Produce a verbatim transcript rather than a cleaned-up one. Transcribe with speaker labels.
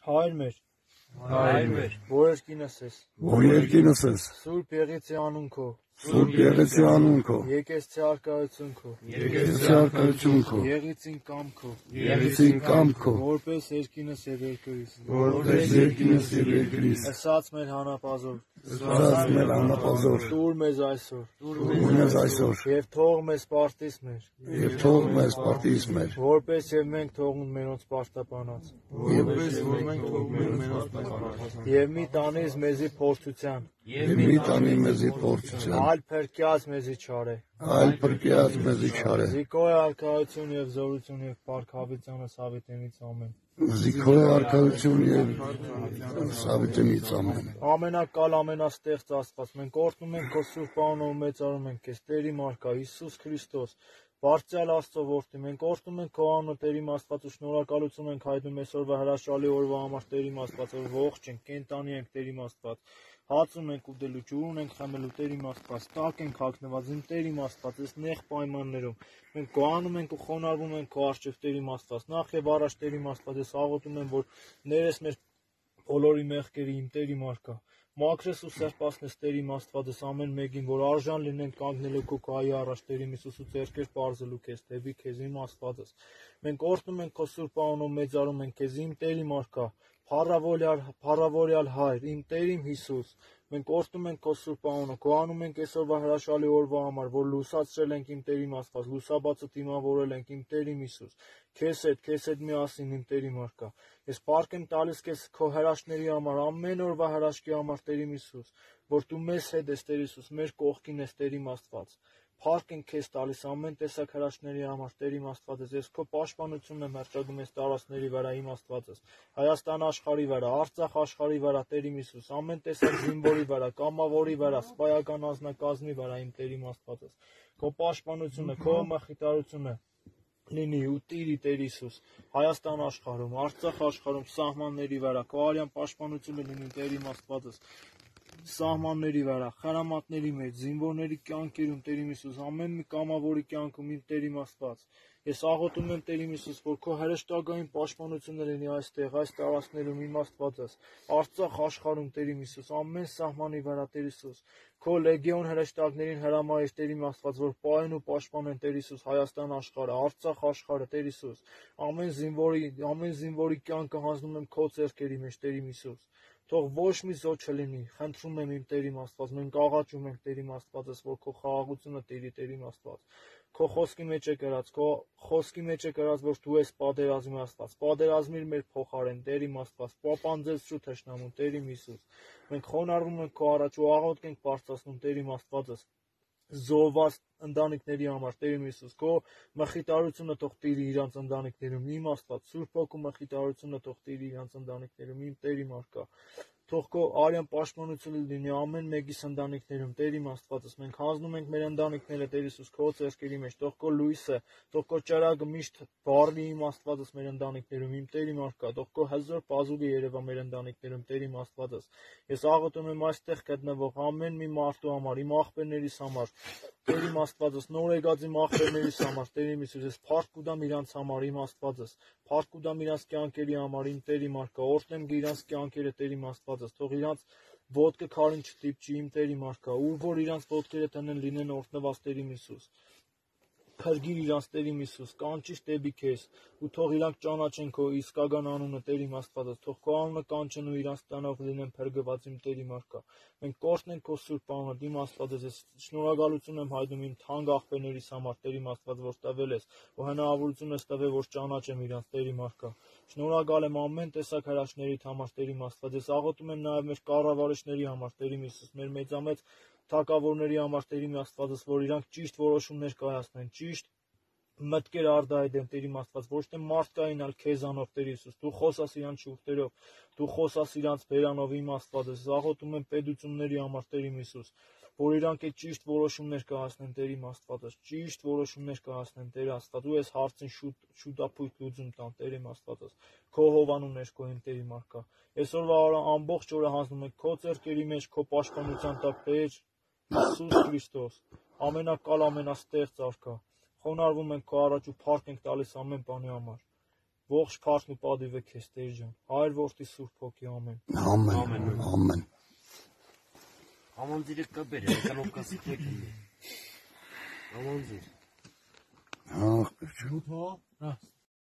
Speaker 1: Հայր մեր,
Speaker 2: Հայր մեր,
Speaker 1: որ երկինս ես,
Speaker 2: որ երկինս ես,
Speaker 1: Սուրբ Եղեցի անուն քո,
Speaker 2: Սուրբ Եղեցի անուն քո,
Speaker 1: եկեցցի արկայություն քո,
Speaker 2: եկեցցի արկայություն քո,
Speaker 1: Եղեցին կամ քո,
Speaker 2: եղեցին կամ քո,
Speaker 1: որպես երկինս եւ երկրիս,
Speaker 2: որպես երկինս եւ երկրիս,
Speaker 1: ասած մեր հանապազոր,
Speaker 2: ասած մեր անապազոր,
Speaker 1: տուր մեզ այսօր,
Speaker 2: տուր մեզ այսօր,
Speaker 1: եւ թող մեզ պարտիս մեր,
Speaker 2: եւ թող մեզ պարտիս մեր,
Speaker 1: որպես եւ մենք թողնենք մենոնց պարտապանած,
Speaker 2: որպես որ մենք թողնենք մենոնց պարտապանած,
Speaker 1: եւ մի տանես մեզի փորձության,
Speaker 2: եւ մի տանի մեզի փորձության,
Speaker 1: այլ փրկյաց մեզի չարե,
Speaker 2: այլ փրկյաց մեզի չարե,
Speaker 1: Զիկոյ արկայություն եւ զորություն եւ փառքավիճանը Սավիտենից ամեն։
Speaker 2: Զիկոյ արկայություն եւ Սավիտենից ամեն։
Speaker 1: Ամենակալ ամենաստեղծ Աստված, մենք օրհնում ենք քո սուրբ անունով, մեծարում ենք քեզ, Տերի Մարկա, Հիսուս Քրիստոս, Բարձրյալ Աստծո որդի, մենք օրհնում ենք քո անունը, Տերի Աստված, ու շնորհակալություն ենք հայտնում այսօրվա հրաշալի օրվա համար, Տերի Աստված, որ ողջ ենք, կենտանի ենք, Տերի Աստված։ Հացում ենք ուտելու, ջուրն ենք խմելու, Տերի Աստված, տակ ենք հագնված, իմ Տերի Աստված, այս նեղ պայմաններում մենք գոհանում ենք ու խոնարհվում ենք քո առջև, Տերի Աստված, նախ եւ առաջ, Տերի Աստված, ես աղոթում եմ, որ ներես մեր բոլորի մեղքերի, իմ Տերի Մարկա, մաքրես ու սրբացնես, Տերի Աստվածս, ամեն մեկին, որ արժան լինենք կանգնելու քո քայի առաջ, Տերի Հիսուս, ու ձեռքեր պարզելու քեզ, դեպի քեզ, իմ Աստվածս։ Մենք օրհնում ենք քո սուրբ անունով, մեծարում ենք քեզ, իմ Տերի Մարկա, փառավորյալ, փառավորյալ Հայր, իմ Տեր իմ Հիսուս, մենք օրհնում ենք քո սուրբ անունը, գոհանում ենք այսօրվա հրաշալի օրվա համար, որ լուսացրել ենք իմ Տերի Աստված, լուսաբացը դիմավորել ենք իմ Տեր իմ Հիսուս, քեզ հետ, քեզ հետ միասին իմ Տերի Մարկա։ Ես փառք եմ տալիս քեզ քո հրաշքների համար, ամեն օրվա հրաշքի համար, Տեր իմ Հիսուս, որ դու մեզ հետ ես, Տեր Հիսուս, մեր կողքին ես, Տեր իմ Աստված։ Փառք ենք քեզ տալիս ամեն տեսակ հրաշքների համար, Տեր իմ Աստվածս, ես քո պաշտպանությունն եմ հռչակում այս տարածքների վրա, իմ Աստվածս, Հայաստան աշխարհի վրա, Արցախ աշխարհի վրա, Տեր իմ Հիսուս, ամեն տեսակ զինվորի վրա, կամավորի վրա, սպայական անձնակազմի վրա, իմ Տեր իմ Աստվածս, քո պաշտպանությունը, քո մխիթարությունը լինի ու տիրի, Տեր Հիսուս, Հայաստան աշխարհում, Արցախ աշխարհում, սահմանների վրա, քո արյան պաշտպանությունը լինի, Տեր իմ Աստվածս, սահմանների վրա, խրամատների մեջ, զինվորների կյանքերում, Տեր իմ Հիսուս, ամեն մի կամավորի կյանքում, իմ Տեր իմ Աստված, ես աղոթում եմ, Տեր իմ Հիսուս, որ քո հրեշտակային պաշտպանությունը լինի այստեղ, այս տարածքներում, իմ Աստվածս, Արցախ աշխարհում, Տեր իմ Հիսուս, ամեն սահմանի վրա, Տեր Հիսուս, քո լեգիոն հրեշտակներին հրամայիր, Տեր իմ Աստված, որ պահեն ու պաշտպանեն, Տեր Հիսուս, Հայաստան աշխարհը, Արցախ աշխարհը, Տեր Հիսուս, ամեն զինվորի, ամեն զինվորի կյանքը հանձնում եմ քո ձեռքերի մեջ, Տեր իմ Հիսուս, թող ոչ մի զոհ չլինի, խնդրում եմ իմ Տեր իմ Աստված, մենք աղաչում ենք Տեր իմ Աստվածս, որ քո խաղաղությունը տիրի, Տեր իմ Աստված, քո խոսքի մեջ է գրած, քո խոսքի մեջ է գրած, որ դու ես պատերազմի Աստված, պատերազմիր մեր փոխարեն, Տեր իմ Աստված, պապանձեցրու թշնամուն, Տեր իմ Հիսուս, մենք խոնարհվում ենք քո առաջ ու աղոթք ենք բարձրացնում, Տեր իմ Աստվածս, զոհված ընտանիքների համար, Տեր իմ Հիսուս, քո մխիթարությունը թող տիրի իրանց ընտանիքներում, իմ Աստված, Սուրբ Հոգու մխիթարությունը թող տիրի իրանց ընտանիքներում, իմ Տեր իմ Մարկա, թող քո արյան պաշտպանությունը լինի ամեն մեկիս ընտանիքներում, Տեր իմ Աստվածս, մենք հանձնում ենք մեր ընտանիքները, Տեր Հիսուս, քո ձեռքերի մեջ, թող քո լույսը, թող քո ճրագը միշտ բառնի իմ Աստվածս մեր ընտանիքներում, իմ Տեր իմ Մարկա, թող քո հզոր բազուկը երևա մեր ընտանիքներում, Տեր իմ Աստվածս, ես աղոթում եմ այստեղ գտնվող ամեն մի մարդու համար, իմ աղբերներիս համար, Տեր իմ Աստվածս, նոր եկած իմ աղբերներիս համար, Տեր իմ Հիսուս, ես փառք կուտամ իրանց համար, իմ Աստվածս, փառք կուտամ իրանց կյանքերի համար, իմ Տեր իմ Մարկա, օրհնեմ իրանց կյանքերը, Տեր իմ Աստվածս, թող իրանց ոտքը քարին չտիպչի, իմ Տեր իմ Մարկա, ուր որ իրանց ոտքերը տնեն լինեն օրհնված, Տեր իմ Հիսուս, փրկիր իրանց, Տեր իմ Հիսուս, կանչիր դեպի քեզ, ու թող իրանք ճանաչեն քո իսկական անունը, Տեր իմ Աստվածս, թող քո անունը կանչեն ու իրանց տանող լինեն փրկված, իմ Տեր իմ Մարկա, մենք կորցնենք քո սուրբ անունը, իմ Աստվածս, ես շնորհակալություն եմ հայտնում իմ թանկ աղբերներիս համար, Տեր իմ Աստված, որ տվել ես, ու հնարավորություն ես տվել, որ ճանաչեմ իրանց, Տեր իմ Մարկա, շնորհակալ եմ ամեն տեսակ հրաշքներիդ համար, Տեր իմ Աստված, ես աղոթում եմ նաև մեր կառավարիչների համար, Տեր իմ Հիսուս, մեր մեծամեծ թագավորների համար, Տեր իմ Աստվածս, որ իրանք ճիշտ որոշումներ կայացնեն, ճիշտ մտքեր արդայդեն, Տեր իմ Աստված, ոչ թե մարդկային, այլ քեզանով, Տեր Հիսուս, դու խոսաս իրանց շուրթերով, դու խոսաս իրանց բերանով, իմ Աստվածս, աղոթում եմ պետությունների համար, Տեր իմ Հիսուս, որ իրանք այդ ճիշտ որոշումներ կայացնեն, Տեր իմ Աստվածս, ճիշտ որոշումներ կայացնեն, Տեր Աստված, ու ես հարցին շուտ շուտապույտ լուծում տան, Տեր իմ Աստվածս, քո հովանու ներքոյին, Տեր իմ Մարկա, այսօրվա օրը ամբողջ օրը հանձնում ենք քո ձեռքերի մեջ, քո պաշտպանության տակ, Տեր Հիսուս Քրիստոս, ամենակալ ամենաստեղծ Արքա, խոնարհվում ենք քո առաջ ու փառք ենք տալիս ամեն բանի համար, Ողջ քարթն ու պատիվը քեզ Տեր ջան, Հայր որդի Սուրբ Հոգի ամեն։
Speaker 2: Ամեն, ամեն։
Speaker 3: Aman direkt kabere, ekonomik asitlik. Aman direkt.
Speaker 2: Ահ,
Speaker 1: Հա,